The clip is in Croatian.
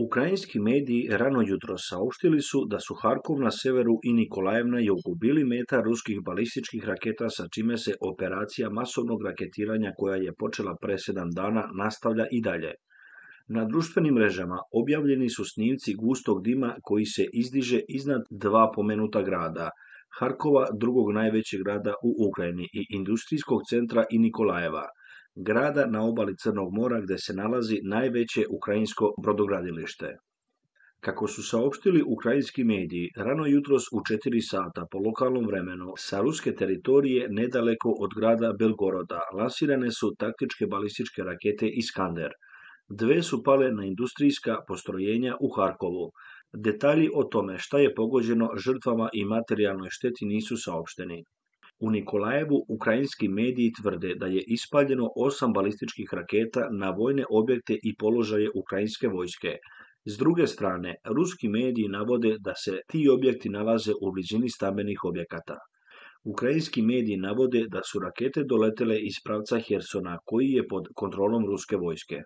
Ukrajinski mediji rano jutros saopštili su da su Harkov na severu i Nikolajev na jugu bili meta ruskih balističkih raketa, sa čime se operacija masovnog raketiranja koja je počela pre 7 dana nastavlja i dalje. Na društvenim mrežama objavljeni su snimci gustog dima koji se izdiže iznad dva pomenuta grada, Harkova, drugog najvećeg grada u Ukrajini, i industrijskog centra i Nikolajeva, grada na obali Crnog mora gde se nalazi najveće ukrajinsko brodogradilište. Kako su saopštili ukrajinski mediji, rano jutros u 4 sata po lokalnom vremenu sa ruske teritorije nedaleko od grada Belgoroda lansirane su taktičke balističke rakete Iskander. Dve su pale na industrijska postrojenja u Harkovu. Detalji o tome šta je pogođeno, žrtvama i materijalnoj šteti nisu saopšteni. U Nikolajevu ukrajinski mediji tvrde da je ispaljeno 8 balističkih raketa na vojne objekte i položaje ukrajinske vojske. S druge strane, ruski mediji navode da se ti objekti nalaze u blizini stambenih objekata. Ukrajinski mediji navode da su rakete doletele iz pravca Hersona, koji je pod kontrolom ruske vojske.